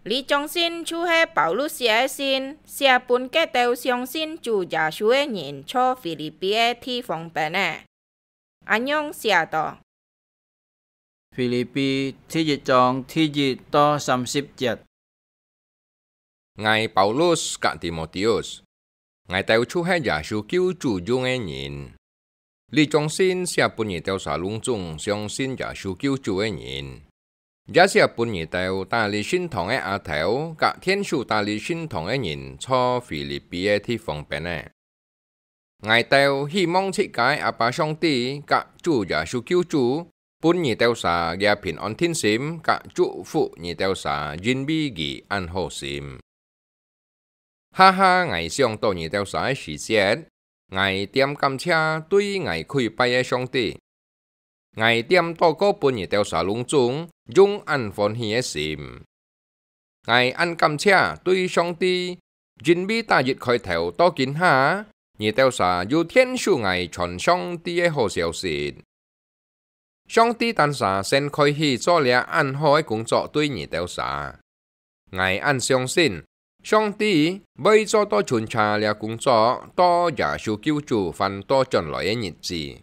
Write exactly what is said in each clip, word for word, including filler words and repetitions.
這張信就係保羅寫个信，寫分該兜相信主耶穌个人在腓立比个地方邊个。恁樣寫到：腓立比第一章第一到三十節。𠊎保羅佮提摩忒，𠊎兜就係耶穌救主用个人。這張信寫分你兜儕攏總相信耶穌救主个人，也寫分你兜戴理聖堂个阿頭佮天使戴理聖堂个人在腓立比个地方邊个。 𠊎兜希望自家个阿爸上帝佮主耶穌救主，分你兜儕這平安定心，佮祝福你兜儕，因為佢恁好心。下下𠊎想到你兜儕个時節，𠊎恬感謝對𠊎跪拜个上帝。 𠊎恬禱告分你兜儕攏總，用恁歡喜个心。𠊎恁感謝對上帝，因為打一開頭到今下，你兜儕有𢯭手𠊎傳上帝个好消息。上帝單儕先開始做這恁好个工作對你兜儕。 𠊎恁相信，上帝會做到巡查這工作，到耶穌救主還倒轉來个日子。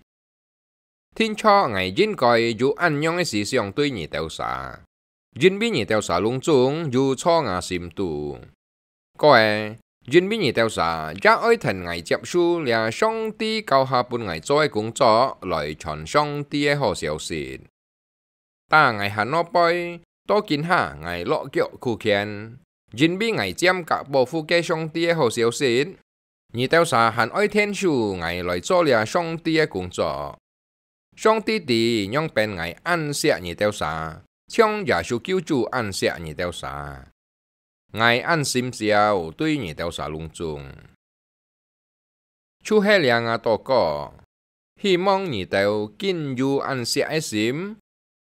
定著𠊎應該有恁樣个思想對你兜儕，因為你兜儕攏總有在吾心肚。過仔，因為你兜儕也愛跈𠊎接受這上帝交下分𠊎做个工作，來傳上帝个好消息。 打𠊎還外背，到今下𠊎落腳苦譴，因為𠊎漸加保護該上帝个好消息，你兜儕還愛𢯭手𠊎來做這上帝个工作。上帝知仰般𠊎恁惜你兜儕，像耶穌救主恁惜你兜儕。𠊎恁心焦對你兜儕攏總。 就係這吾禱告，希望你兜緊有恁惜个心，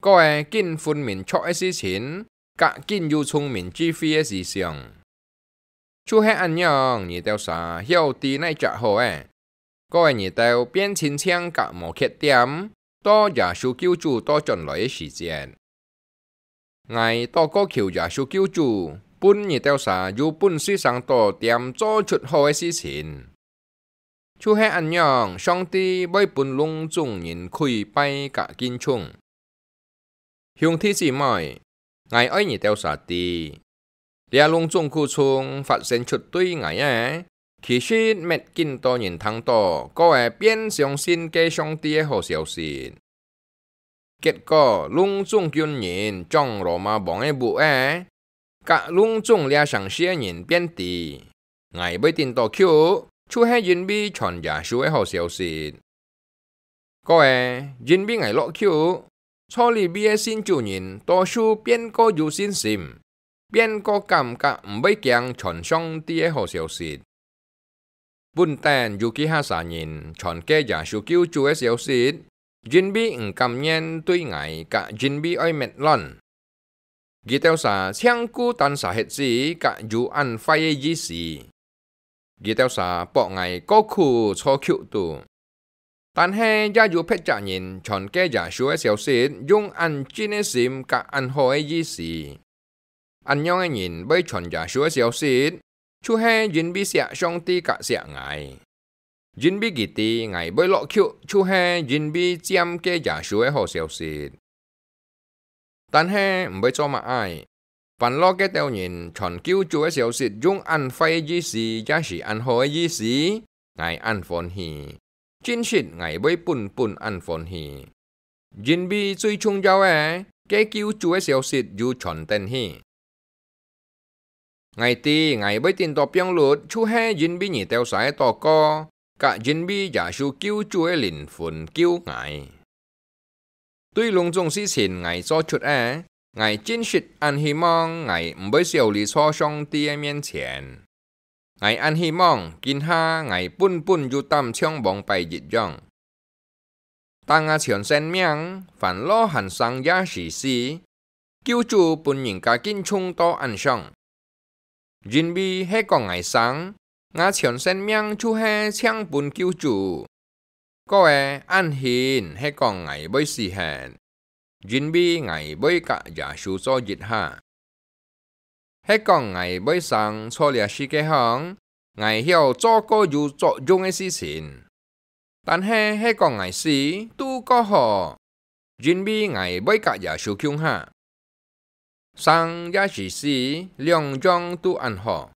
過仔緊分明著个事情，佮緊有聰明智慧个思想。就係恁樣，你兜儕曉知哪隻好仔，過仔你兜變親像甲無缺點，到耶穌救主倒轉來个時節。 𠊎禱告求耶穌救主，分你兜儕有本事生到恬做出好个事情。就係恁樣，上帝會分攏總人跪拜佮敬重。兄弟姊妹，𠊎愛你兜儕知，這攏總苦衷發生出對𠊎个，其實乜緊多人聽到，過仔便相信該上帝个好消息。 結果，攏總軍人掌羅馬王个屋仔，佮攏總這城市个人便知，𠊎會頂到去，就係因為傳耶穌个好消息。過仔，因為𠊎落去，在這位个信主人多數變過有信心，變過感覺毋會驚傳上帝个好消息。 本等有幾下儕人傳該耶穌救主个消息，因為毋甘願對𠊎佮因為愛滅亂。佢兜儕淨顧單儕核子佮有恁壞个意思。佢兜儕駁𠊎過苦坐監肚。但係也有別隻人傳該耶穌个消息，用恁真个心佮恁好个意思。 恁樣个人會傳耶穌个消息，就係因為惜上帝佮惜𠊎。因為佢知𠊎會落去，就係因為佔該耶穌个好消息。但係毋會做麼个，煩惱該兜人傳救主个消息，用恁壞个意思，也係恁好个意思，𠊎恁歡喜。真實𠊎會本本恁歡喜。 因為最重要个，該救主个消息有傳等去。𠊎知𠊎會頂到放律，就係因為你兜儕个禱告，佮因為耶穌救主个靈魂救𠊎。對攏總事情𠊎做出个，𠊎真實恁希望𠊎毋會少離在上帝个面前。 𠊎恁希望，今下𠊎本本有膽像往擺一樣。但𠊎全生命，還老還生也係死，救主分人家敬重到恁上。因為係講𠊎生，𠊎全生命就係淨分救主。 過仔恁興係講𠊎會死忒，因為𠊎會佮耶穌做一下。係講𠊎會生在這世界項，𠊎曉做過有作用个事情。但係係講𠊎死都過好，因為𠊎會佮耶穌共下。生也係死，兩樣都恁好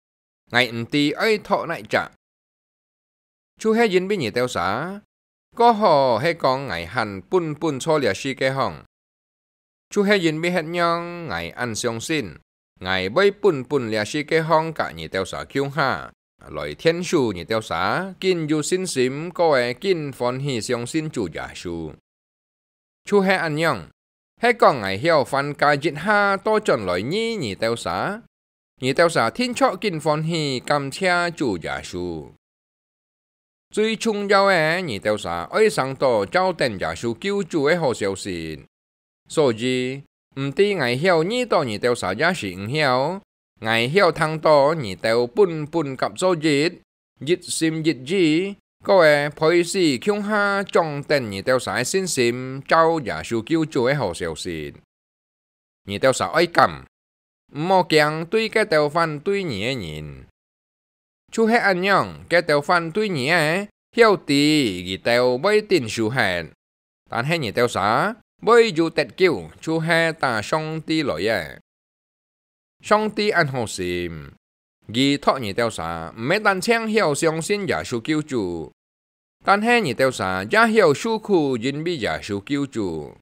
，𠊎毋知愛擇哪隻。就係因為你兜儕，過好係講𠊎還本本在這世界項，就係因為恁樣𠊎恁相信，𠊎會本本這世界項佮你兜儕共下，來𢯭手你兜儕緊有信心，過會緊歡喜相信主耶穌。就係恁樣，係講𠊎曉還加一下倒轉來遇你兜儕，你兜儕定著緊歡喜感謝主耶穌。最重要个，你兜儕愛生到照等耶穌救主个好消息。所以，毋知𠊎曉遇著你兜儕也係毋曉，𠊎曉聽著你兜本本合做一，一心一意，過會陪時共下掌等你兜儕个信心，照耶穌救主个好消息。你兜儕愛敢，毋好驚對該兜反對你个人。就係恁樣，該兜反對你个，曉知佢兜會頂受忒，但係你兜儕會有得救，就係打上帝來个。上帝恁好心，佢擇你兜儕毋係單淨曉相信耶穌救主，但係你兜儕也曉受苦，因為耶穌救主。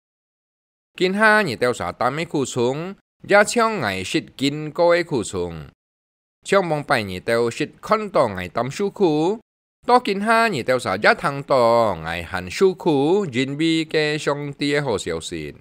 今下你兜儕擔个苦衷，也像𠊎識經過个苦衷。像往擺你兜識看著𠊎擔受苦，到今下你兜儕也聽著𠊎還受苦，因為該上帝个好消息。